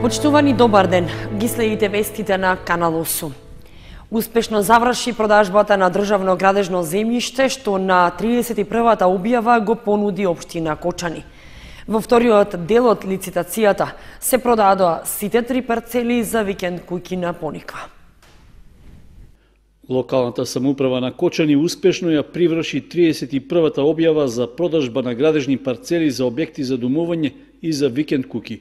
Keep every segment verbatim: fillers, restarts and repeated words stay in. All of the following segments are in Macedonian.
Почитувани, добар ден. Ги следите вестите на Канал осум. Успешно заврши продажбата на државно градежно земјиште, што на тридесет и првата објава го понуди општина Кочани. Во вториот дел од лицитацијата се продадоа сите три парцели за викенд куќи на Пониква. Локалната самоуправа на Кочани успешно ја приврши тридесет и првата објава за продажба на градежни парцели за објекти за домување и за викенд куќи.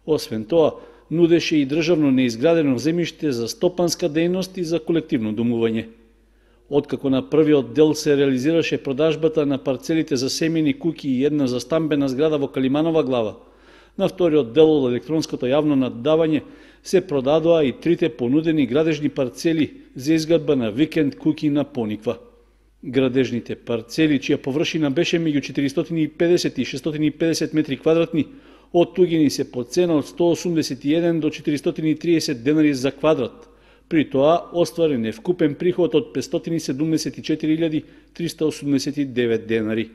Освен тоа, нудеше и државно неизградено земјиште за стопанска дејност и за колективно домување. Откако на првиот дел се реализираше продажбата на парцелите за семејни куќи и една за стамбена зграда во Калиманова глава, на вториот дел од електронското јавно наддавање се продадоа и трите понудени градежни парцели за изградба на викенд куќи на Пониква. Градежните парцели, чија површина беше меѓу четиристотини и педесет и шестстотини и педесет метри квадратни, оттугени се по цена од сто осумдесет и еден до четиристотини и триесет денари за квадрат. При тоа остварен е вкупен приход од петстотини седумдесет и четири илјади триста осумдесет и девет денари.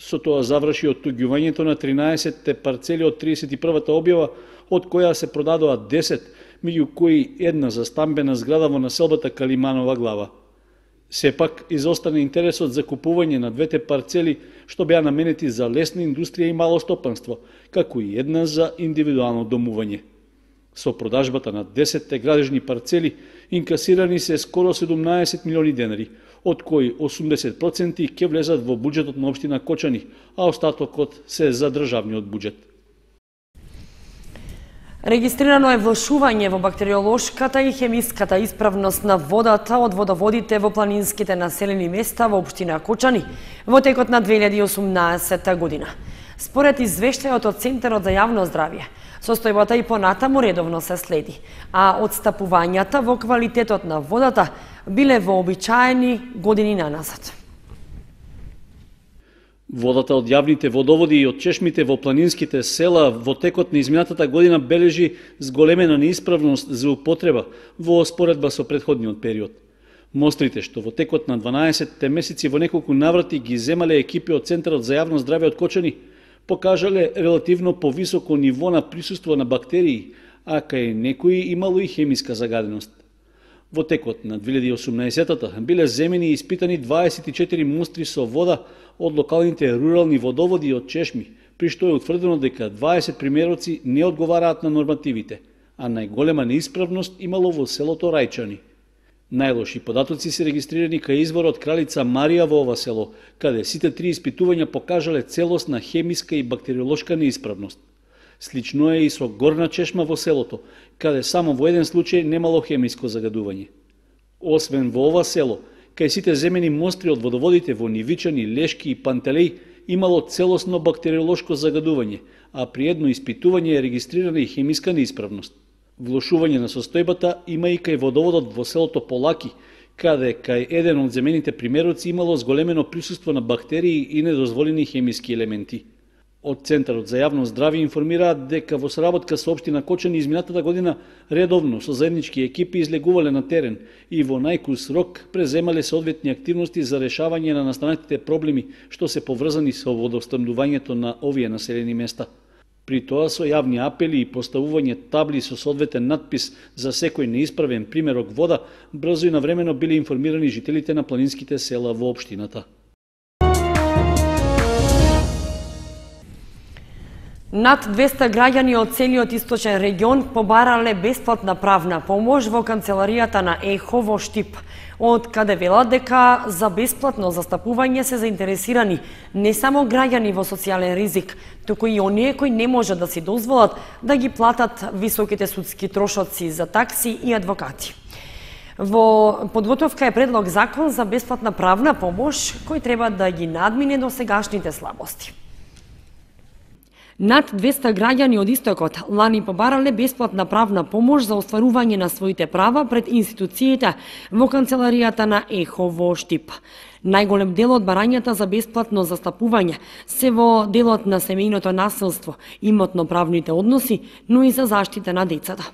Со тоа заврши оттуѓувањето на тринаесетте парцели од тридесет и првата објава, од која се продадоа десет, меѓу кои една за стамбена зграда во населбата Калиманова глава. Сепак, изостана интересот за купување на двете парцели, што беа наменети за лесна индустрија и мало стопанство, како и една за индивидуално домување. Со продажбата на десетте градежни парцели инкасирани се скоро седумнаесет милиони денари, од кои осумдесет проценти ќе влезат во буџетот на општина Кочани, а остатокот се за државниот буџет. Регистрирано е влошување во бактериолошката и хемиската исправност на водата од водоводите во планинските населени места во општина Кочани во текот на две илјади и осумнаесетта година. Според извештајот од Центарот за јавно здравје, состојбата и понатаму редовно се следи, а одстапувањата во квалитетот на водата биле вообичаени години наназад. Водата од јавните водоводи и од чешмите во планинските села во текот на изминатата година бележи зголемена неисправност за употреба во споредба со претходниот период. Мострите што во текот на дванаесетте месеци во неколку наврати ги земале екипи од Центарот за јавно здравје од Кочани, покажале релативно повисоко ниво на присуство на бактерии, а кај некои имало и хемиска загаденост. Во текот на две илјади и осумнаесетта биле земени и испитани дваесет и четири мостри со вода од локалните рурални водоводи и од чешми, при што е утврдено дека дваесет примероци не одговараат на нормативите, а најголема неисправност имало во селото Рајчани. Најлоши податоци се регистрирани кај изворот Кралица Марија во ова село, каде сите три испитувања покажале целосна хемиска и бактериолошка неисправност. Слично е и со Горна чешма во селото, каде само во еден случај немало хемиско загадување. Освен во ова село, кај сите земени мостри од водоводите во Нивичани, Лешки и Пантелеј имало целосно бактериолошко загадување, а при едно испитување е регистрирана и хемиска неисправност. Влошување на состојбата има и кај водоводот во селото Полаки, каде кај еден од земените примероци имало зголемено присуство на бактерии и недозволени хемиски елементи. Од Центарот за јавно здравје информираат дека во соработка со општина Кочани изминатата година редовно со заеднички екипи излегувале на терен и во најкус рок преземале соодветни активности за решавање на настанатите проблеми што се поврзани со водоснабдувањето на овие населени места. При тоа со јавни апели и поставување табли со соодветен надпис за секој неисправен примерок вода, брзо и навремено биле информирани жителите на планинските села во општината. Над двесте граѓани од целиот источен регион побарале бесплатна правна помош во канцеларијата на ЕХО во Штип, од каде велат дека за бесплатно застапување се заинтересирани не само граѓани во социјален ризик, туку и оние кои не можат да си дозволат да ги платат високите судски трошоци за такси и адвокати. Во подготовка е предлог закон за бесплатна правна помош кој треба да ги надмине досегашните слабости. Над двесте граѓани од истокот лани побарале бесплатна правна помош за остварување на своите права пред институциите во канцеларијата на ЕХО во Штип. Најголем дел од барањата за бесплатно застапување се во делот на семејното насилство, имотно-правните односи, но и за заштита на децата.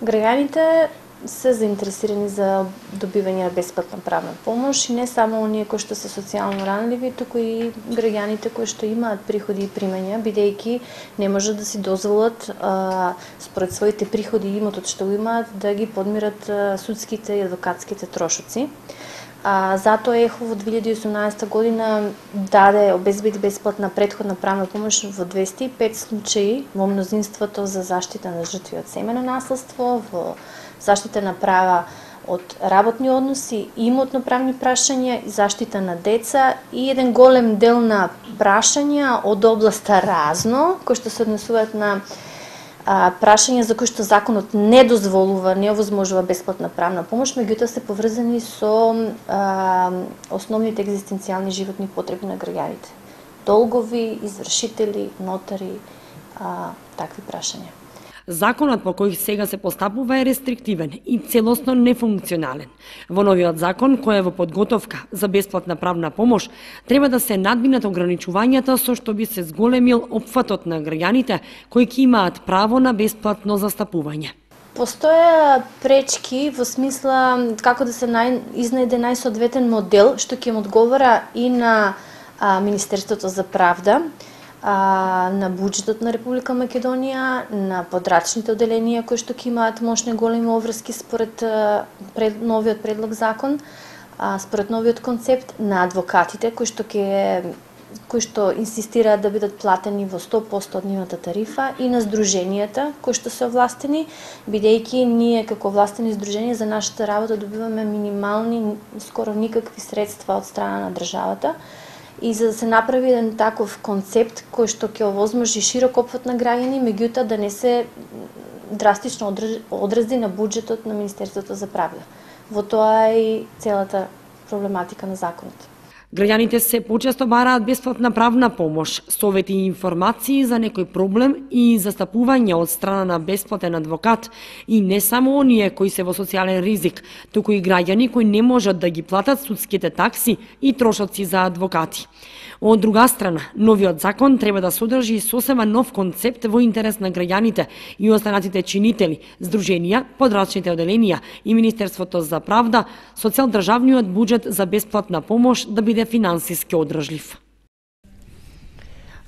Граѓаните се заинтересирани за добивање на бесплатна правна помош и не само оние кои што се социјално ранливи, туку и граѓаните кои што имаат приходи и примања, бидејќи не можат да си дозволат а, според своите приходи и имотот што го имаат да ги подмират а, судските и адвокатските трошоци. А, затоа ЕХО во две илјади и осумнаесета година даде обезбеди бесплатна претходна правна помош во двесте и пет случаи, во мнозинството за заштита на жртви од семено наследство, во заштита на права од работни односи, имотно-правни прашања, заштита на деца и еден голем дел на прашања од областа разно, кои што се однесуваат на а, прашања за кои што законот не дозволува, не овозможува бесплатна правна помош, меѓутоа се поврзани со а, основните екзистенцијални животни потреби на граѓаните. Долгови, извршители, нотари, а, такви прашања. Законот по кој сега се постапува е рестриктивен и целосно нефункционален. Во новиот закон, кој е во подготовка за бесплатна правна помош, треба да се надминат ограничувањата со што би се зголемил опфатот на граѓаните кои ќе имаат право на бесплатно застапување. Постоја пречки во смисла како да се нај, изнајде најсоодветен модел што ќе му одговара и на а, Министерството за правда, на буџетот на Република Македонија, на подрачните оделенија кои што ќе имаат мощни големи обврски според пред, новиот предлог закон, според новиот концепт, на адвокатите кои што ќе кои што инсистираат да бидат платени во сто проценти од нивната тарифа и на здруженијата кои што се овластени, бидејќи ние како овластени здруженија за нашата работа добиваме минимални, скоро никакви средства од страна на државата. И за да се направи еден таков концепт кој што ќе овозможи широк опфат на граѓани, меѓутоа да не се драстично одрази на буџетот на Министерството за правда. Во тоа е и целата проблематика на законот. Граѓаните се почесто бараат бесплатна правна помош, совети и информации за некој проблем и застапување од страна на бесплатен адвокат и не само оние кои се во социјален ризик, туку и граѓани кои не можат да ги платат судските такси и трошоци за адвокати. Од друга страна, новиот закон треба да содржи сосема нов концепт во интерес на граѓаните и останатите чинители, здруженија, подрачните оделенија и Министерството за правда, со цел државниот буџет за бесплатна помош да биде финансиски одржлив.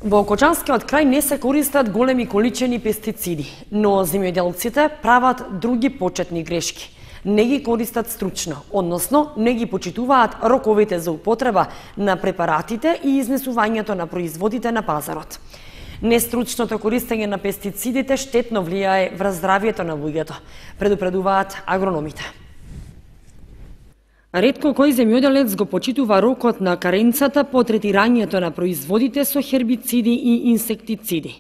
Во Кочанскиот крај не се користат големи количини пестициди, но земјоделците прават други почетни грешки. Не ги користат стручно, односно не ги почитуваат роковите за употреба на препаратите и изнесувањето на производите на пазарот. Нестручното користење на пестицидите штетно влијае врз здравјето на луѓето, предупредуваат агрономите. Ретко кој земјоделец го почитува рокот на каренцата по третирањето на производите со хербициди и инсектициди.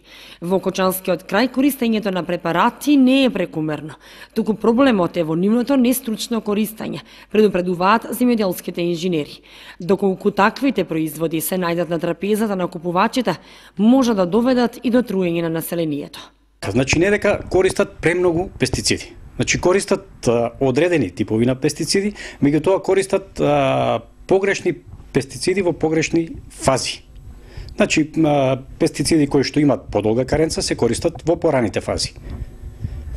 Во Кочанскиот крај користењето на препарати не е прекумерно, туку проблемот е во нивното нестручно користење, предупредуваат земјоделските инженери. Доколку таквите производи се најдат на трапезата на купувачите, може да доведат и до труење на населението. Значи не дека користат премногу пестициди. Значи користат а, одредени типови на пестициди, меѓутоа користат а, погрешни пестициди во погрешни фази. Значи а, пестициди кои што имаат подолга каренца се користат во пораните фази.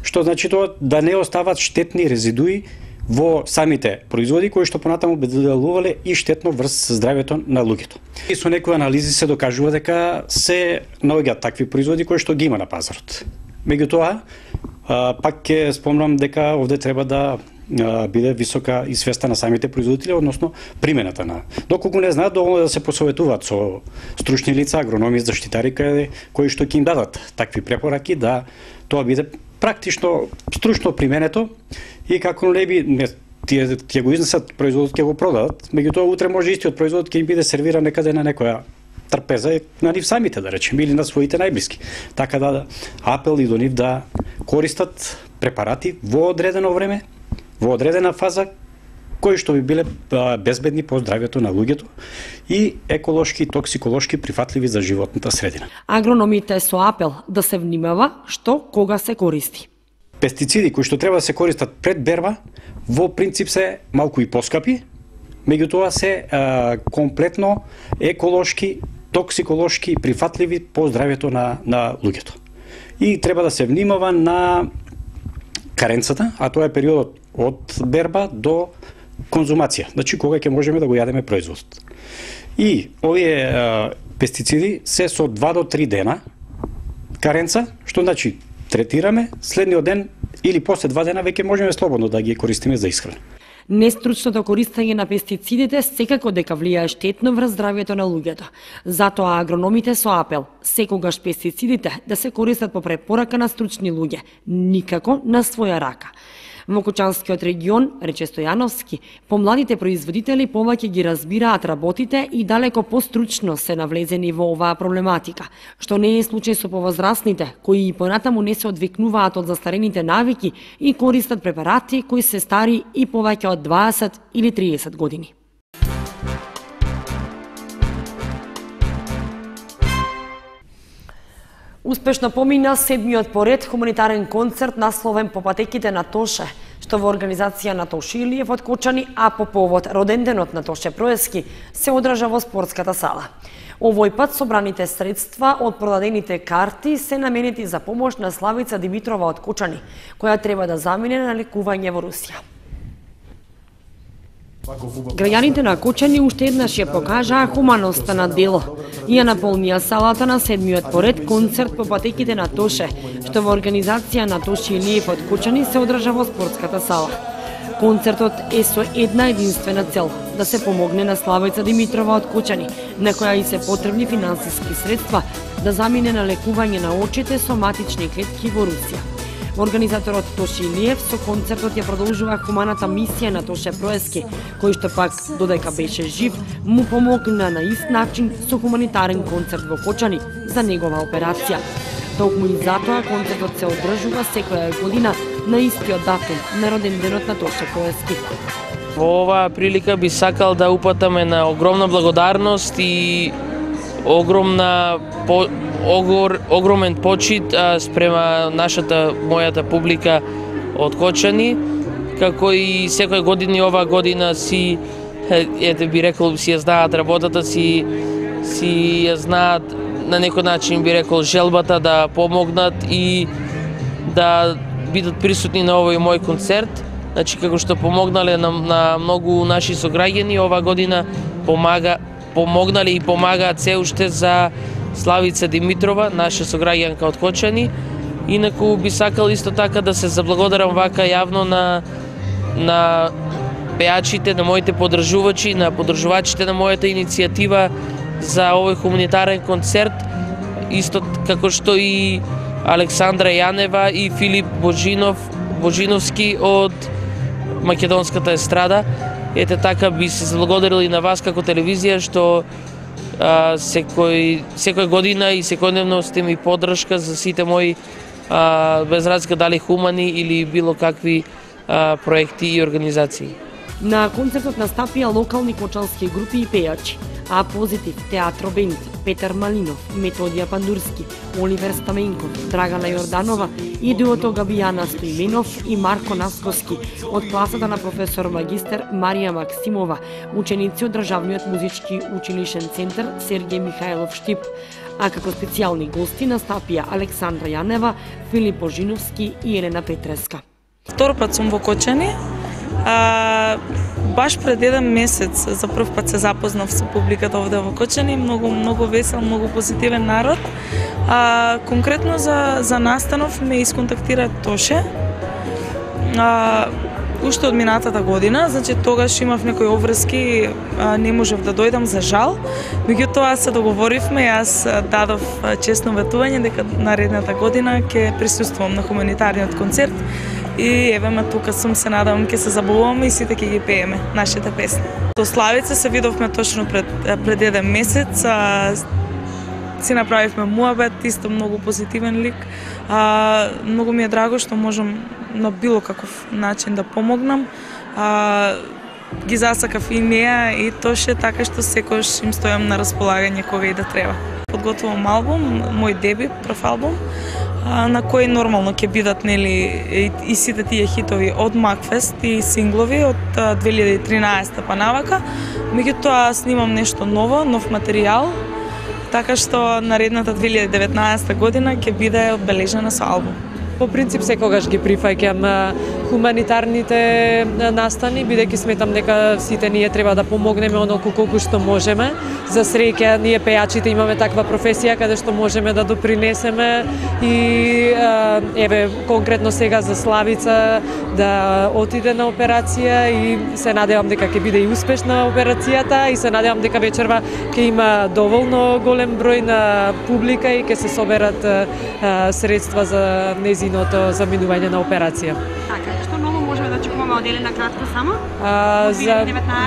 Што значи тоа да не остават штетни резидуи во самите производи кои што понатаму би делувале и штетно врз здравјето на луѓето. И со некои анализи се докажува дека се наоѓаат такви производи кои што ги има на пазарот. Меѓутоа, пак ќе спомнам дека овде треба да биде висока и свеста на самите производители, односно примената на. Доколку не знаат, доволно да се посоветуваат со стручни лица, агрономи, заштитари кои што ќе им дадат такви препораки да тоа биде практично стручно применето и како не би не, тие ќе го изнесат производот, ќе го продадат, меѓутоа утре може истиот производ ќе им биде сервиран некаде на некоја трпеза на нив самите, да речем, или на своите најблиски. Така да апел и до нив да користат препарати во одредено време, во одредена фаза, кои што би биле безбедни по здравјето на луѓето и еколошки и токсиколошки прифатливи за животната средина. Агрономите со апел да се внимава што кога се користи. Пестициди кои што треба да се користат пред берба, во принцип се малку и поскапи, меѓутоа се а, комплетно еколошки, токсиколошки прифатливи по здравјето на, на луѓето. И треба да се внимава на каренцата, а тоа е периодот од берба до конзумација, значи кога ќе можеме да го јадеме производот. И овие а, пестициди се со два до три дена каренца, што значи третираме, следниот ден или после два дена веќе можеме слободно да ги користиме за исхрана. Нестручното користење на пестицидите секако дека влијае штетно врз здравјето на луѓето. Затоа агрономите со апел секогаш пестицидите да се користат по препорака на стручни луѓе, никако на своја рака. Во Кочанскиот регион, рече Стојановски, помладите производители повеќе ги разбираат работите и далеко постручно се навлезени во оваа проблематика, што не е случај со повозрасните, кои и понатаму не се одвикнуваат од застарените навики и користат препарати кои се стари и повеќе од дваесет или триесет години. Успешно помина седмиот поред хуманитарен концерт насловен по патеките на Тоше, што во организација на Тоше Илиев од Кочани, а по повод роденденот на Тоше Проески се одржа во спортската сала. Овој пат собраните средства од продадените карти се наменети за помош на Славица Димитрова од Кочани, која треба да замине на лекување во Русија. Граѓаните на Кочани уште еднаш ја покажаа хуманоста на дело и ја наполнија салата на седмиот поред концерт по патеките на Тоше, што во организација на Тоше Илиев од Кочани се одржа во спортската сала. Концертот е со една единствена цел – да се помогне на Славица Димитрова од Кочани, на која и се потребни финансиски средства да замине на лекување на очите со матични клетки во Русија. Организаторот Тоше Илиев со концертот ја продолжува хуманата мисија на Тоше Проески, кој што пак, додека беше жив, му помогна на ист начин со хуманитарен концерт во Кочани за негова операција. Токму и затоа концертот се одржува секоја година на истиот датум на роденденот на Тоше Проески. Во оваа прилика би сакал да упатаме на огромна благодарност и огромна по, огор, огромен почит а, спрема нашата, мојата публика од Кочани, како и секоја година оваа година си, ете би рекол, си ја знаат работата, си, си ја знаат на некој начин би рекол желбата да помогнат и да бидат присутни на овој мој концерт. Значи, како што помогнале на, на многу наши сограѓани, оваа година помага помогнале и помагаат се уште за Славица Димитрова, наша сограѓанка од Кочани. Инаку би сакал исто така да се заблагодарам вака јавно на на пеачите, на моите поддржувачи, на поддржувачите на мојата иницијатива за овој хуманитарен концерт, исто како што и Александра Јанева и Филип Божинов, Божиновски од македонската естрада. Ете така би се заблагодарил и на вас како телевизија што а, секој, секој година и секојдневно сте ми поддршка за сите мои а, без разлика дали хумани или било какви а, проекти и организации. На концертот настапија локални кочански групи и пејачи: А Позитив, Театро Бенд, Петар Малинов, Методија Пандурски, Оливер Стаменков, Драгана Јорданова и дуото Габијана Стоименов и Марко Насковски од класата на професор магистер Марија Максимова, ученици од Државниот музички училишен центар Сергеј Михајлов Штип. А како специјални гости настапија Александра Јанева, Филип Божиновски и Елена Петреска. Втор пат сум во Кочани. А, баш пред еден месец за прв пат се запознав со публиката овде во Кочани, многу многу весел, многу позитивен народ. А, конкретно за за настанов ме исконтактира Тоше. А, уште од минатата година, значи тогаш имав некои обврски, а, не можев да дојдам за жал. Меѓутоа се договоривме, јас дадов честно ветување дека наредната година ќе присуствувам на хуманитарниот концерт. И еве ме тука сум, се надевам ќе се забавуваме и сите ќе ги пееме нашите песни. До Славица се видовме точно пред пред еден месец. А, си направивме муабет, исто многу позитивен лик. А, многу ми е драго што можам на било каков начин да помогнам. А, ги засакав и неа и Тоше, така што секојаш им стојам на располагање кога и да треба. Подготвувам албум, мој дебют, прв албум, на кој нормално ќе бидат нели и, и сите тие хитови од Макфест и синглови од две илјади и тринаесета па навака. Меѓутоа снимам нешто ново, нов материјал, така што наредната две илјади и деветнаесета година ќе биде одбележена со албум. По принцип секогаш ги прифаќам хуманитарните настани, бидејќи сметам дека сите ние треба да помогнеме онолку колку што можеме. За среќа ние пејачите имаме таква професија каде што можеме да допринесеме и еве конкретно сега за Славица да отиде на операција и се надевам дека ќе биде и успешна операцијата и се надевам дека вечерва ќе има доволно голем број на публика и ќе се соберат а, средства за незиното заминување на операција. Така, што ново можеме да очекуваме од Елена кратко само? А, за,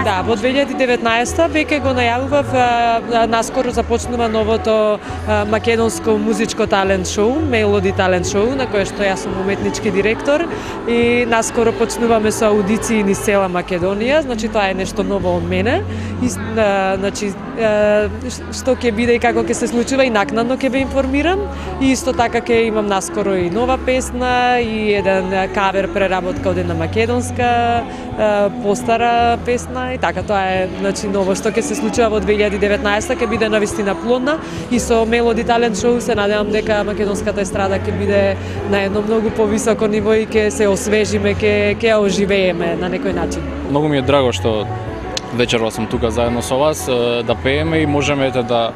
да, во две илјади и деветнаесета веќе го најавував, а, наскоро започнува новото а, македонско музичко талент шоу, Мелоди талент шоу, на кое што јас сум уметнички директор и наскоро почнуваме со аудиции низ цела Македонија, значи тоа е нешто ново од мене. И, а, значи, а, што ќе биде и како ќе се случува и накнадно ќе ве информирам. И исто така ќе имам наскоро и нова песна и еден кавер преработка од една македонска а, постара песна и така тоа е, значи, ново што ќе се случува во две илјади и деветнаесета, ќе биде навистина плодна и со Мелоди талент шоу се надевам дека македонската естрада ќе биде на едно многу повисоко ниво и ќе се освежиме, ќе ќе оживееме на некој начин. Многу ми е драго што вечерва сум тука заедно со вас да пееме и можеме ете да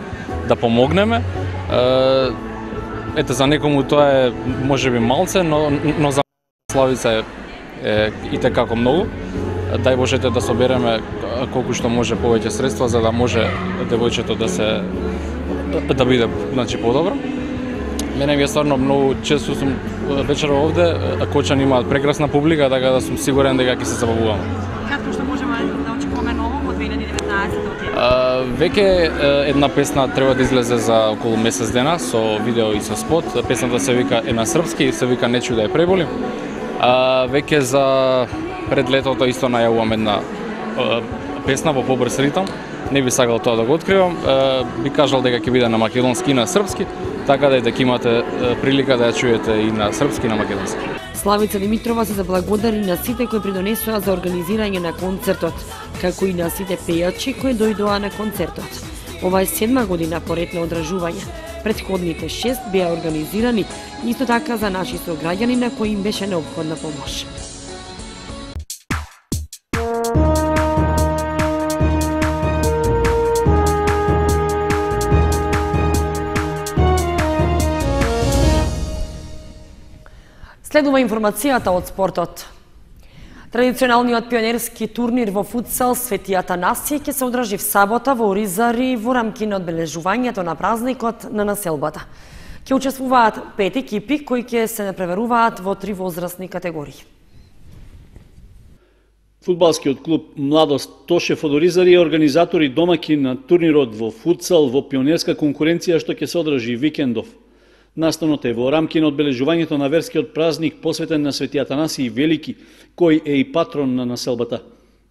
да помогнеме. Ете за некому тоа е можеби малце, но но за Славица е, е и како многу. Дај Божете да собереме колку што може повеќе средства за да може девојчето да се да биде, значи, подобро. Мене ми е стварно многу често сум вечерва овде, Кочани имаат прекрасна публика, така да сум сигурен дека ќе се забавуваме. Кратко што можеме да очекуваме ново во две илјади и деветнаесета од Uh, веќе една песна треба да излезе за околу месец дена со видео и со спот. Песната се вика е на српски и се вика Не чуј да ја преболим. Uh, веќе за пред летото исто најавувам една uh, песна во побрз ритам. Не би сакал тоа да го откривам. Uh, би кажал дека ќе биде на македонски и на српски, така да дека имате uh, прилика да ја чуете и на српски и на македонски. Славица Димитрова се заблагодари на сите кои придонесоа за организирање на концертот, како и на сите пејачи кои дојдоа на концертот. Ова е седма година поред на одржување. Претходните шест беа организирани исто така за наши сограѓани на кои им беше неопходна помош. Следува информацијата од спортот. Традиционалниот пионерски турнир во футсал Свети Атанасиј ќе се одржи в сабота во Оризари во рамки на одбележувањето на празникот на населбата. Ќе учествуваат пет екипи кои ќе се преверуваат во три возрастни категории. Фудбалскиот клуб Младост Тошев од Оризари е организатор и домаќин на турнирот во футсал во пионерска конкуренција што ќе се одржи викендов. Настанот е во рамки на одбележувањето на верскиот празник посветен на Свети Атанасиј Велики, кој е и патрон на населбата.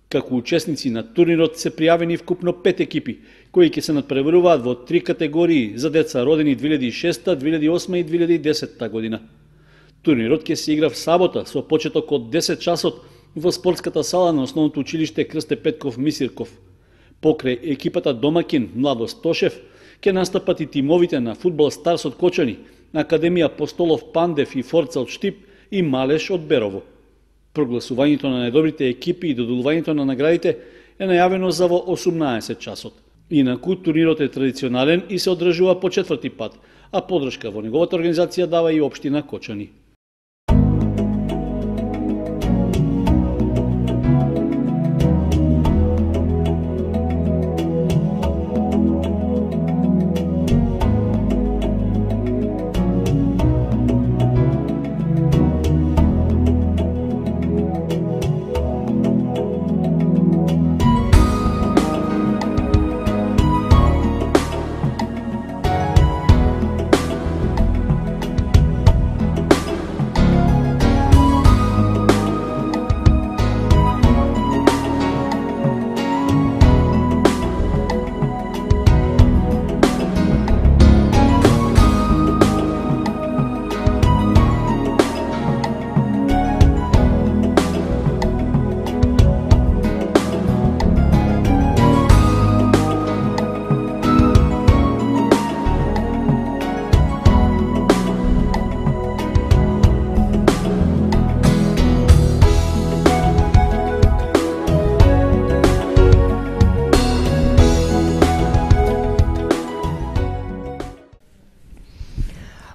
Како учесници на турнирот се пријавени вкупно пет екипи, кои ќе се надпреваруваат во три категории за деца родени две илјади и шеста, две илјади и осма и две илјади и десета година. Турнирот ќе се игра в сабота со почеток од десет часот во спортската сала на основното училиште Крсте Петков Мисирков. Покрај екипата домаќин Младост Тошев ќе настапат и тимовите на Фудбал Старс од Кочани, Академија Постолов Пандев и Форца од Штип и Малеш од Берово. Прогласувањето на најдобрите екипи и доделувањето на наградите е најавено за во осумнаесет часот. Инаку турнирот е традиционален и се одржува по четврти пат, а подршка во неговата организација дава и општина Кочани.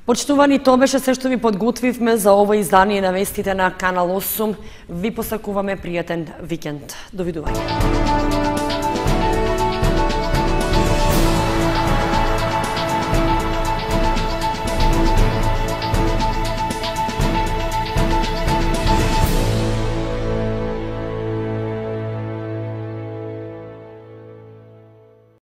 Почитувани, тоа беше се што ви подготвивме за ова издание на вестите на Канал осум. Ви посакуваме пријатен викенд. Довидување.